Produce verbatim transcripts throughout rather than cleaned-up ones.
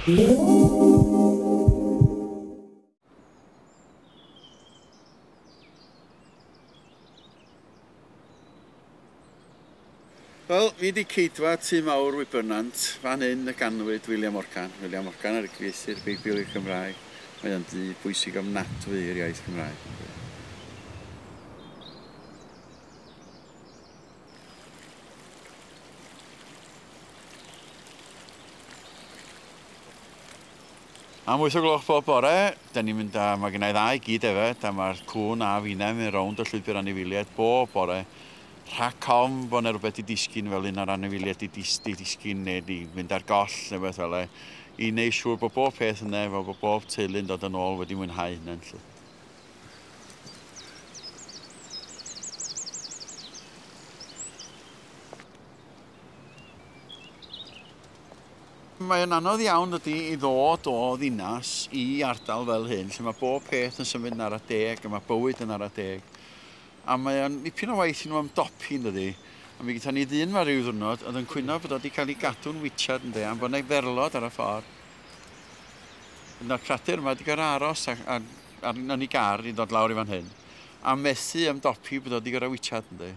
Wel, fi di ceidwad Tŷ Mawr Wybrnant, fan hyn y ganwyd William Morgan. William Morgan ar y cyfieithu'r Beibl i'r Cymraeg. Mae o'n dŷ bwysig ofnadwy i'r iaith Gymraeg. Am wyth o gloch bob bore, da ni'n mynd â, mae gennau ddau gyd hefyd, a mae'r cŵn a finna mynd rownd y llwybr anifeiliaid bob bore. Rhac ofn bod yna rhywbeth i disgyn fel un o'r anifeiliaid i dis, di disgyn neu di mynd ar goll neu beth fel e, i wneud siŵr bod bob peth yna, fel bod bob teulu'n dod yn ôl wedi mwynhau hynny'n lle. Mae'n anodd iawn ydy i ddod o ddinas i ardal fel hyn, lle mae bob peth yn symud yn ara deg a mae bywyd yn ara deg. A mae o'n dipyn o waith i nhw ymdopi, yn dydi. A mi gyda ni ddyn ma ryw ddwrnod, oedd yn cwyno bod o wedi cael ei gadw'n wichad, ynddi, am bod yna ferlod ar y ffordd. Yna'r cradur yma wedi gorfod aros a, a, ar, yn ei gar i ddod lawr i fan hyn. A methu ymdopi bod o wedi gorfod wichad, ynddi.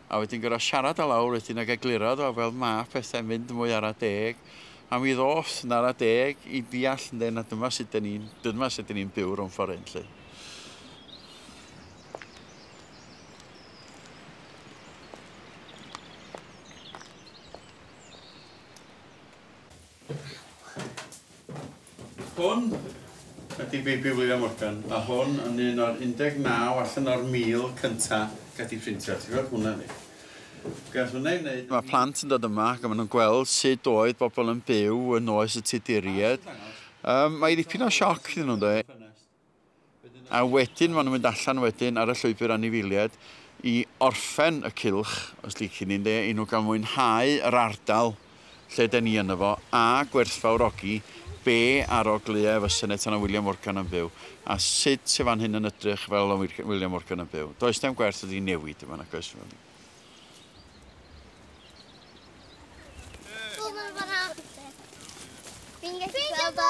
A wedyn gorfod siarad o lawr wedyn ac egluro o fel ma pethau'n mynd mwy ara deg. A mi ddoth yn ara deg i ddeall, ynddi, na dyma sut dyn ni'n dyma sut dyn ni'n byw rhwng ffordd hyn, lly. Hwn ydy Beibl William Morgan, a hwn yn un o'r un deg naw allan o'r mil cynta gath ei phrintio. Ti'n gweld hwnna ni? Gath hwnna i wneud. Mae plant yn dod yma ac maen nhw'n gweld sut oedd bobl yn byw yn oes y Tuduriaid. Um, mae ddipyn o sioc iddyn nhw'n dweud. A wedyn maen nhw'n mynd allan wedyn ar y llwybr anifeiliaid i orffen y cylch, os licen ni'n dweud, i nhw gael mwynhau yr ardal lle den ni yno fo, a gwerthfawrogi be arogleuau fysa neu tan o William Morgan yn byw, a sut sy fan hyn yn edrych fel o William Morgan yn byw. Does dim gwerth ydi newid yma, nag oes? Fi'n gallu gweld o.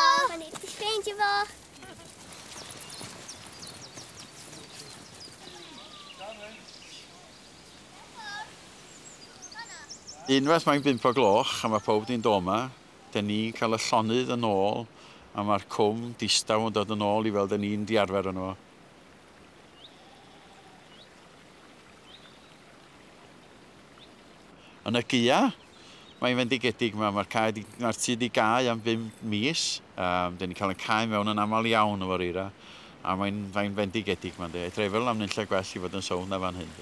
Ffeindio fo. Unwaith mae'n bump o gloch a mae pawb di'n dod yma, dyn ni'n cael y llonydd yn ôl a mae'r cwm distaw yn dod yn ôl i fel dyn ni'n diarfer yno fo. Yn y gaea, mae'n fendigedig yma, mae'r cae di, mae'r tŷ di gau am bum mis, um, dyn ni'n cael y cae mewn yn aml iawn efo'r eira, a mae'n mae'n fendigedig yma, ynddi. Edrych fel am nunlle gwell i fod yn sownd na fan hyn.